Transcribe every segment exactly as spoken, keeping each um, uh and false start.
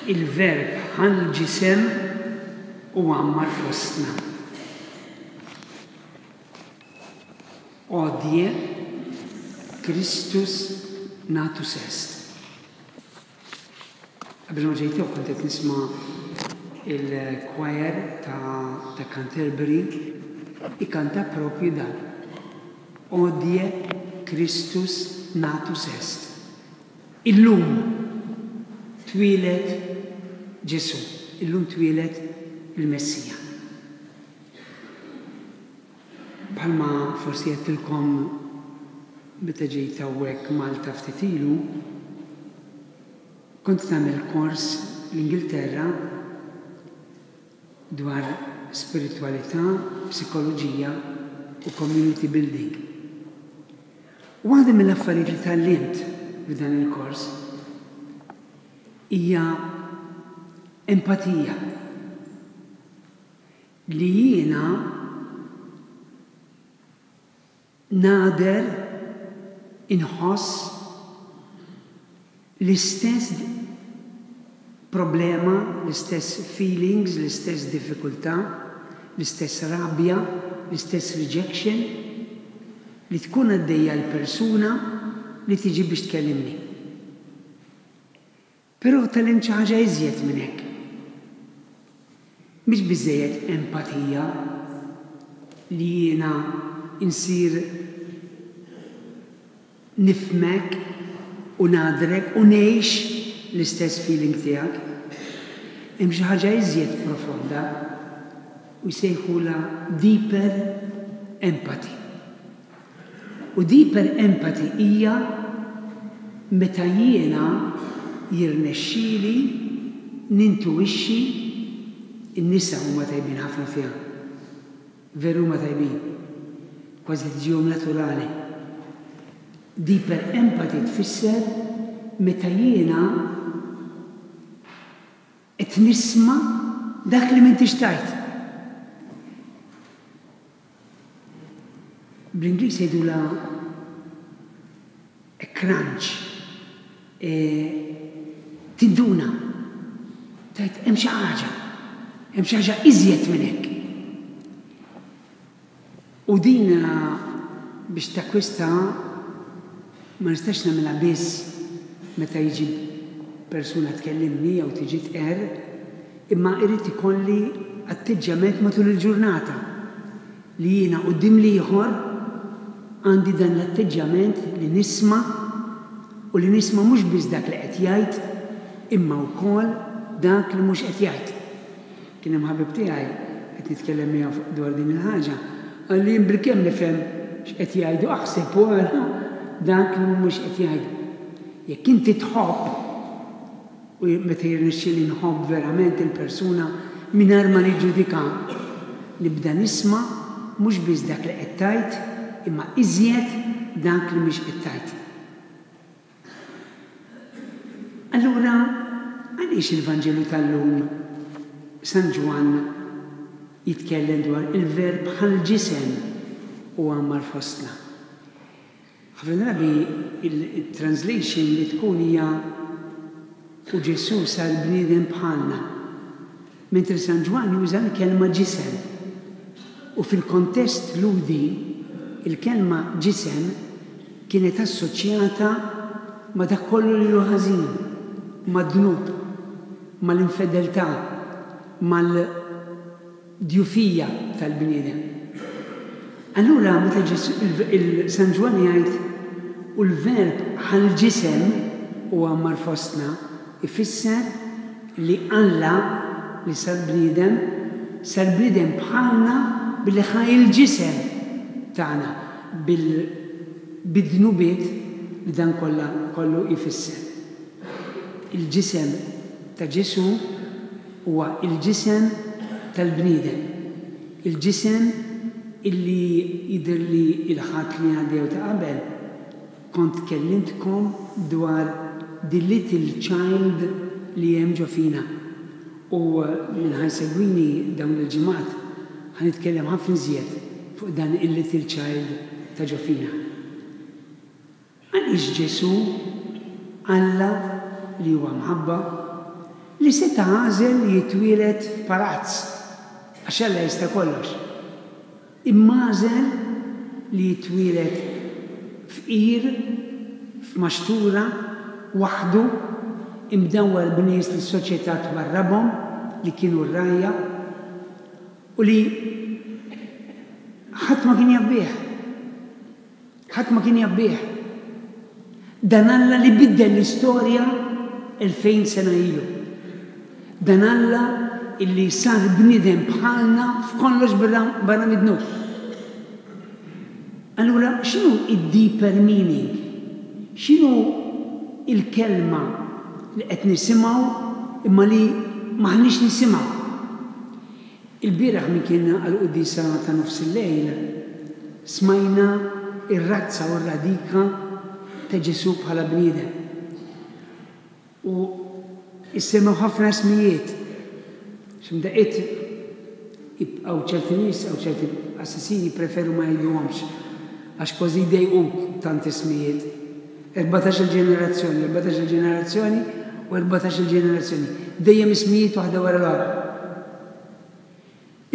Il-Verb ħa l-ġisem u għammar fostna. Hodie Christus natus est. Qabel ma ġejt kont qed nisma' il-choir ta', ta' Canterbury ikanta propju dan. Hodie Christus natus est. Illum twieled Ġesù, illum twieled il-Messija. Bħalma forsi għedtilkom meta ġejt hawnhekk Malta ftit ilu, kont nagħmel kors l-Ingilterra dwar spiritualità, psikoloġija u community building. U waħda mill-affarijiet li tgħallimt f'dan il-kors hija empatija, li jiena nagħder inħoss l-istess problema, l-istess feelings, l-istess diffikultà, l-istess rabja, l-istess rejection li tkun għaddejja l-persuna li tiġi biex tkellimni. Però tgħallimt xi ħaġa iżjed minn hekk. Mhix biżejjed empatija li jiena insir nifhmek u nagħdrek u ngħix l-istess feeling tiegħek. Hemm xi ħaġa iżjed profonda u jsejħula deeper empathy. U deeper empathy hija meta jiena jirnexxieli nintuwixxi. In-nisa huma tajbin ħafna fiha. Veru huma tajbin. Kważi tiġihom naturali. Deeper empathy tfisser meta jiena qed nisma' dak li m'intix tgħid. Bl-Ingliż jgħidulha a crunch. E, tinduna. Tgħid hemm xi ħaġa. Hemm xi ħaġa iżjed minn hekk. U din biex takkwista ma nistax nagħmilha biss meta jiġi persuna tkellimni jew tiġi tqerr, imma irid ikolli atteġġjament matul il-ġurnata li jiena quddiem l-ieħor għandi dan l-atteġġjament li nisma' u li nisma' mhux biss dak li qed jgħid imma wkoll dak li mhux qed jgħid. Kien hemm ħabib tiegħi qed nitkellem miegħu dwar din il-ħaġa, qal li jien bilkemm nifhem x'qed jgħidu, aħseb u ara dak li mhux qed jgħidu. Jekk inti tħobb, u meta jirnexxieli nħobb verament il-persuna mingħajr ma niġġudika, nibda nisma' mhux biss dak li qed tgħid, imma iżjed dak li mhix qed tgħid. Allura, għaliex il-Vanġelu tal-lum San Ġwann jitkellem dwar il-Verb ħa l-ġisem u għammar fostna? Ħafna drabi il-translation li tkun hija u Ġesù sar bniedem bħalna, mentri San Ġwann juża l-kelma ġisem. U fil-kontest Lhudi, il-kelma ġisem kienet assoċjata ma' dak kollu li hu ħażin, mad-dnub, mal-infedeltà, mal-djufija tal-bniedem. Allura meta Ġesù, il-San Ġwann jgħid u l-Verb ħa l-ġisem u għammar fostna, ifisser li Alla li sar bniedem, sar bniedem bħalna billi ħa il-ġisem tagħna bil-dnubiet li dan kollha kollu jfisser. Il-ġisem ta' Ġesù huwa il-ġisem tal-bniedem. Il-ġisem illi jidher li il-Ħadd li għaddew ta' qabel kont kellimtkom dwar the little child li hemm ġo fina. U min ħa jsegwini dawn il-ġimgħat ħa nitkellem ħafna iżjed fuq dan il-little child ta' ġo fina. Għaliex Ġesù, Alla li huwa mħabba, li seta' għażel li jitwieled f'palazz, għax Alla jista' kollox. Imma għażel li jitwieled fqir, f'maxtura, waħdu, imdawwar b'nies li s-soċjetà twarrabhom, li kienu r-rgħajja, u li ħadd ma kien jaf bih. Ħadd ma kien jaf bih. Dan Alla li biddel l-istorja elfejn sena ilu. Dan Alla illi sar bniedem bħalna f'kollox barra mid-dnub. Allura, x'inhu id-deeper meaning? X'inhu il-kelma li qed nisimgħu imma li m'aħniex nisimgħu? Il-bieraħ min kien għall-quddiesa ta' nofs il-lejl smajna ir-razza u r-radika ta' Ġesù bħala bniedem. U issemmew ħafna ismijiet. X'imdaqqiet hawn ċerti nies, hawn ċerti qassisin jippreferu ma jgħiduhomx għax kważi jdejquk tant ismijiet. Erbatax-il ġenerazzjoni, erbatax-il ġenerazzjoni u erbatax-il ġenerazzjoni. Dejjem ismijiet waħda wara l-oħra.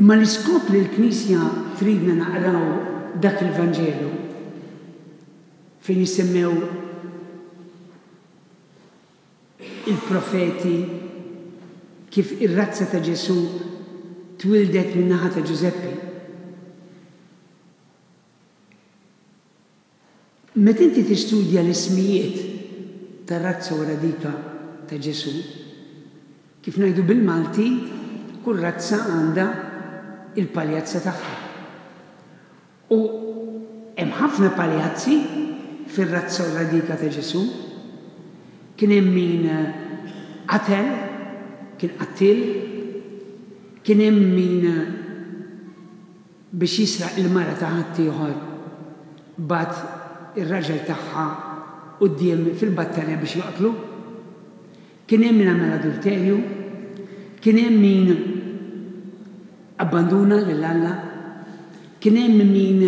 Imma l-iskop li l-Knisja tridna naqraw dak il-Vanġelu fejn jissemmew il-profeti kif ir-razza ta' Ġesù twildet min-naħa ta' Ġużeppi. Meta inti tistudja l-ismijiet tar-razza u radika ta' Ġesù, kif ngħidu bil-Malti, kull razza għandha il-paljazza tagħha. U hemm ħafna paljazzi fir-razza u radika ta' Ġesù. Kien hemm min qatel, kien qattil, kien hemm min biex jisraq il-mara ta' ħaddieħor bagħat ir-raġel tagħha quddiem fil-battalja biex joqtlu. Kien hemm min għamel adulterju, kien hemm min abbanduna lil Alla, kien hemm min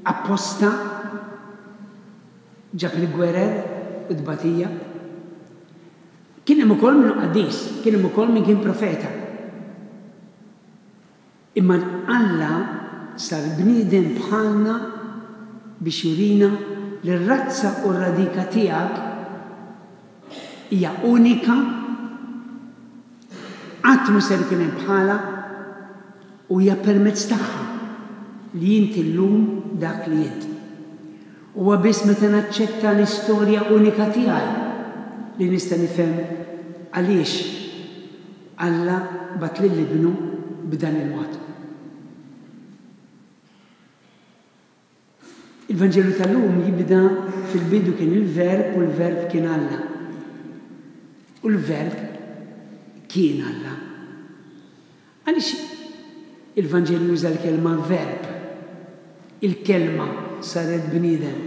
apposta ġab il-gwerer u tbatija. Kien hemm ukoll min qaddis, kien hemm ukoll min kien profeta. Imma Alla sar bniedem bħalna biex jurina li r-razza u r-radika tiegħek hija unika, qatt mhu ser ikun hemm bħala, u hija permezz tagħha li inti llum dak li int. Huwa biss meta naċċetta l-istorja unika tiegħi li nista' nifhem għaliex Alla bagħat lil ibnu b'dan il-mod. Il-Vanġelu tal-lum jibda fil-bidu kien il-Verb u l-Verb kien Alla. U l-Verb kien Alla. Għaliex il-Vanġelu juża l-kelma verb? Il-kelma saret bniedem.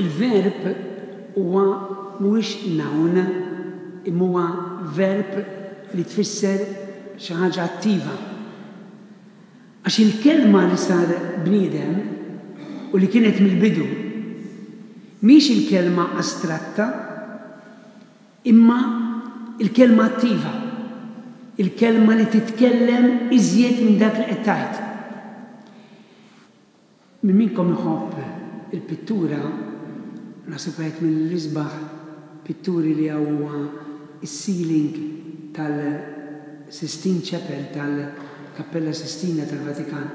Il-verb huwa mhuwiex noun, imma huwa verb li tfisser xi ħaġa attiva. Għax il-kelma li sar bniedem u li kienet mill-bidu mhix il-kelma astratta, imma il-kelma attiva, il-kelma li titkellem iżjed minn dak li qed tgħid. Min minnkom iħobb il-pittura, naħseb wieħed mill-isbaħ pitturi li hawn huwa is-ceiling tal-Sistine Chapel, tal-Kappella Sistina tal-Vatikan,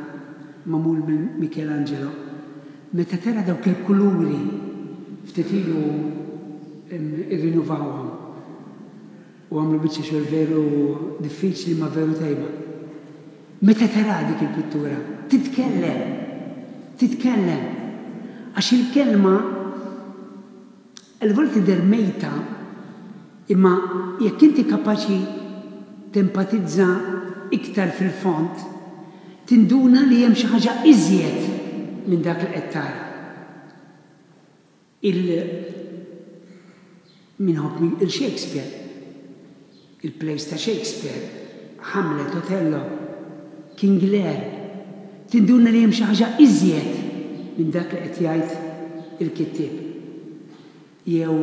magħmul minn Michelangelo. Meta tara dawk il-kuluri ftit ilu irrinnovawhom u għamlu biċċa xogħol veru diffiċli ma veru tajba. Meta tara dik il-pittura, titkellem, titkellem. Għax il-kelma il-vol tidher mejta, imma jekk inti kapaċi tempatizza iktar fil-fond, tinduna li hemm xi ħaġa iżjed minn dak li qed tara. Il minħobb il-Shakespeare, il-plays ta' Shakespeare, Hamlet, Othello, King Lear, tinduna li hemm xi ħaġa iżjed minn dak li qed jgħid il-kittieb. Jew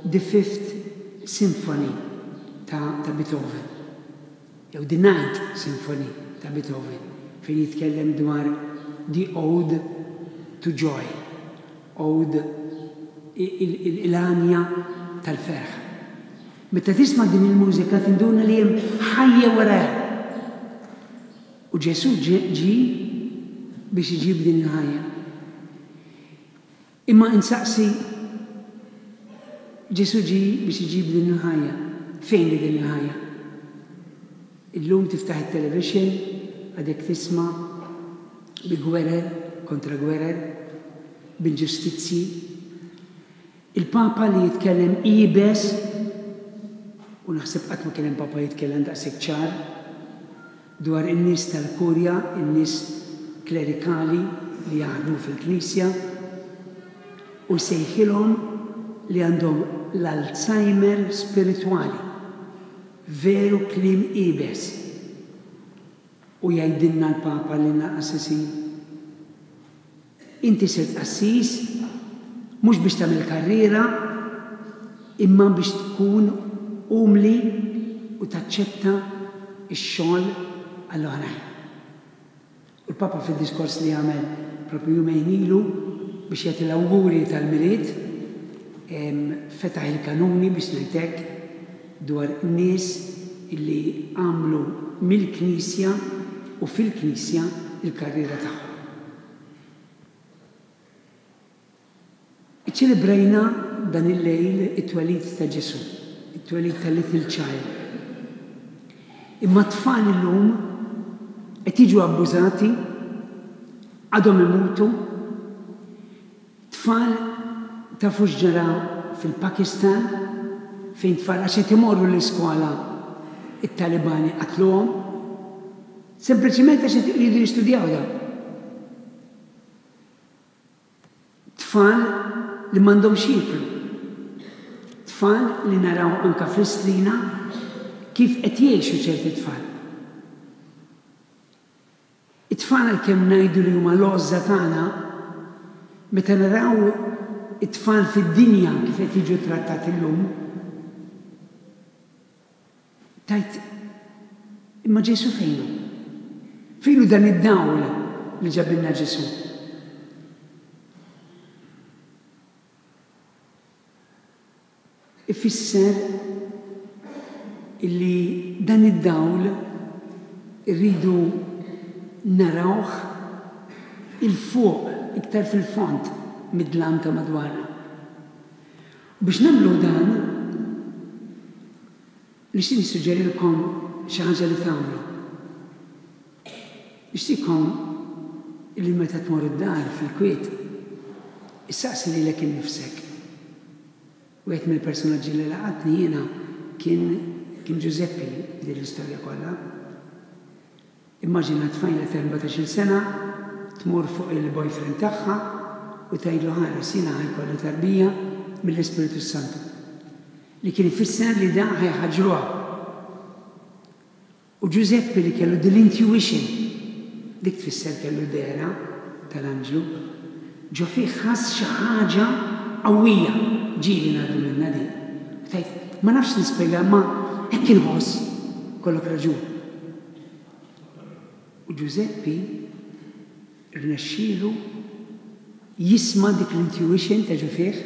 The Fifth Symphony ta', ta Beethoven, jew The Ninth Symphony ta' Beethoven, fejn jitkellem dwar the Ode to Joy, Ode, il-għanja tal-ferħ. Meta tisma' din il-mużika tinduna li hemm ħajja warajha. U Ġesù ġie biex iġib din il-ħajja. Imma insaqsi, Ġesù ġie biex iġib din il-ħajja. Fejn hi din il-ħajja? Illum tiftaħ it-television, għadek tisma' bi gwerer kontra gwerer, b'inġustizzji. Il-Papa li jitkellem iebes, u naħseb qatt ma kien hemm Papa jitkellem daqshekk ċar, dwar in-nies tal-kurja, in-nies klerikali li jaħdmu fil-Knisja, u sejħilhom li għandhom l-Alzheimer spiritwali. Veru kliem iebes. U jgħidilna l-Papa lilna l-qassisin, inti sirt qassis mhux biex tagħmel karriera, imma biex tkun umli u taċċetta x-xogħol għall-oħrajn. U l-Papa fid-diskors li għamel propju jumejn ilu biex jagħti l-awguri tal-Milied, fetaħ il-kanuni biex ngħidlek dwar nies illi għamlu mill-Knisja u fil-Knisja il-karriera tagħhom. Iċċelebrajna dan il-lejl it-twelid ta' Ġesù, it-twelid ta' Little Child. Imma t-tfal illum qed jiġu abbużati, għadhom imutu. Tfal tafu x'ġara fil-Pakistan, fejn tfal għax qed imorru l-iskola it-Talibani qatluhom, sempliċiment għax qed iridu jistudjaw dawn. Tfal li m'għandhomx jieklu. Tfal li naraw anka fl-Istrina kif qed jgħixu ċerti tfal. It-tfal għalkemm ngħidu li huma l-għożża tagħna, meta naraw it-tfal fid-dinja kif qed jiġu trattati llum, tajt imma Ġesù fejnu? Fejnu dan id-dawl li ġabilna Ġesù? Ifisser illi dan id-dawl irridu narawh il-fuq, iktar fil-fond mid-dlam ta' madwarna. U biex nagħmlu dan, nixtieq nissuġġerilkom xi ħaġa li tagħmlu. Nixtieqkom illi meta tmur id-dar fil-kwiet, issaqsi lilek innifsek. Wieħed mill-personaġġi li laqatni jiena kien, kien Ġużeppi din l-istorja kollha. Immaġina tfajla ta' erbatax-il sena tmur fuq il-boyfriend tagħha u tgħidlu ħares jiena ħajkolli tarbija mill-Ispiritu Santu. Li kien ifisser li da ħajħaġruha. U Ġużeppi li kellu din l-intuition, dik tfisser kellu dehra tal-anġlu, ġo fih ħass xi ħaġa qawwija, ġieli ngħaddu minnha din. U tgħid, ma nafx nispjega, ma hekk inħoss, kollok raġun. U Ġużeppi rnexxielu jisma' dik l-intuition ta' ġo fih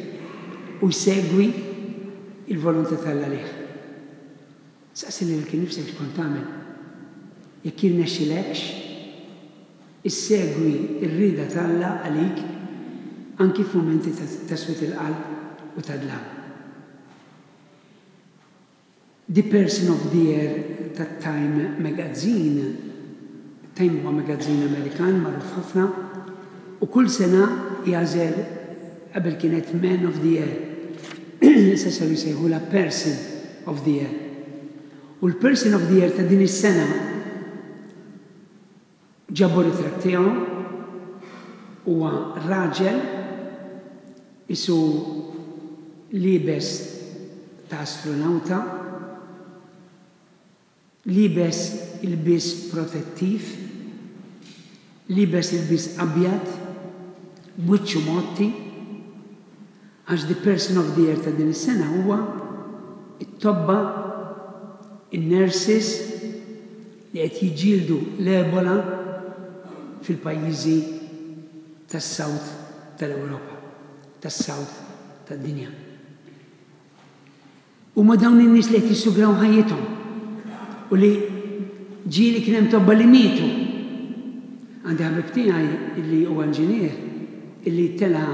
u jsegwi il-volontà t'Alla għalih. Saqsi lilek innifsek x'kont tagħmel. Jekk jirnexxilekx, issegwi r-rieda t'Alla għalik anki f'mumenti ta' swied il-qalb u ta' dlam. The Person of the Year ta' Time Magazine, Time huwa magazine Amerikan magħruf ħafna, u kull sena jagħżel, qabel kienet Man of the Year, issa saru jsejħulha Person of the Year. U l-Person of the Year ta' din is-sena ġabu ritratt tiegħu, huwa raġel isu liebes ta' astronauta, liebes ilbies protettiv, liebes ilbies abjad, b'wiċċu mgħotti, għax the Person of the Year ta' din is-sena huwa It-tobba, in-nurses li qed jiġġieldu l-Ebola fil-pajjiżi tas-South tal-Ewropa, tas-South tad-dinja. Huma dawn in-nies li qed jissugraw ħajjithom u li ġieli kien hemm tobba li mietu. Għandi ħabib tiegħi illi huwa inġinier illi tela'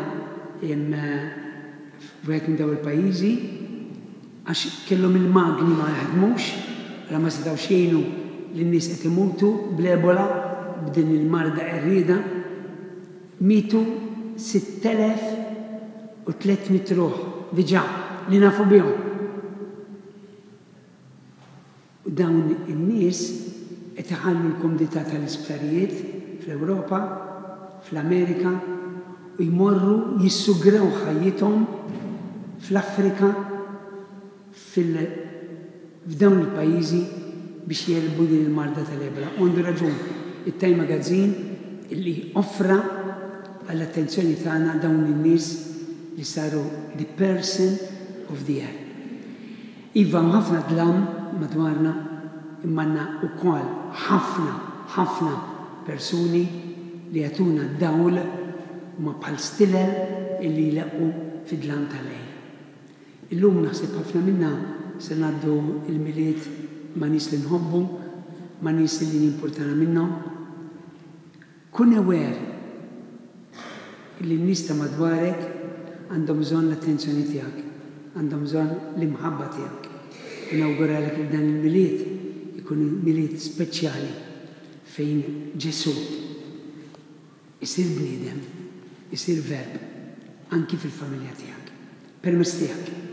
f'wieħed minn dawn il-pajjiżi għax kellhom il-magni ma jaħdmux, għala ma setgħux jgħinu lin-nies qed imutu bl-Ebola, b'din il-marda qerrieda. Mietu sitt elef u tliet mitt ruħ diġà li nafu bihom. U dawn in-nies qed iħallu l-kumdità tal-isptarijiet fl-Ewropa, fl-Amerika, u jmorru jissugraw ħajjithom fl-Afrika, fil-, f'dawn il-pajjiżi biex jelbu din il-marda tal-Ebola. U għandu raġun it-Time Magazine illi offra għall-attenzjoni tagħna dawn in-nies li saru the person of the year. Iva, hawn ħafna dlam madwarna, imma għandna wkoll ħafna, ħafna persuni li jagħtuna dawl huma bħal stilel illi jleqqu fid-dlam tal-lejl. Illum naħseb ħafna minna se ngħaddu il-Milied ma' nies li nħobbu, ma' nies li nimpurtana minnhom. Kun aware illi n-nies ta' madwarek għandhom bżonn l-attenzjoni tiegħek, għandhom bżonn l-imħabba tiegħek. U nawguralek li dan il-Milied ikun Milied speċjali fejn Ġesù isir bniedem, isir verb anki fil-familja tiegħek. Permezz tiegħek.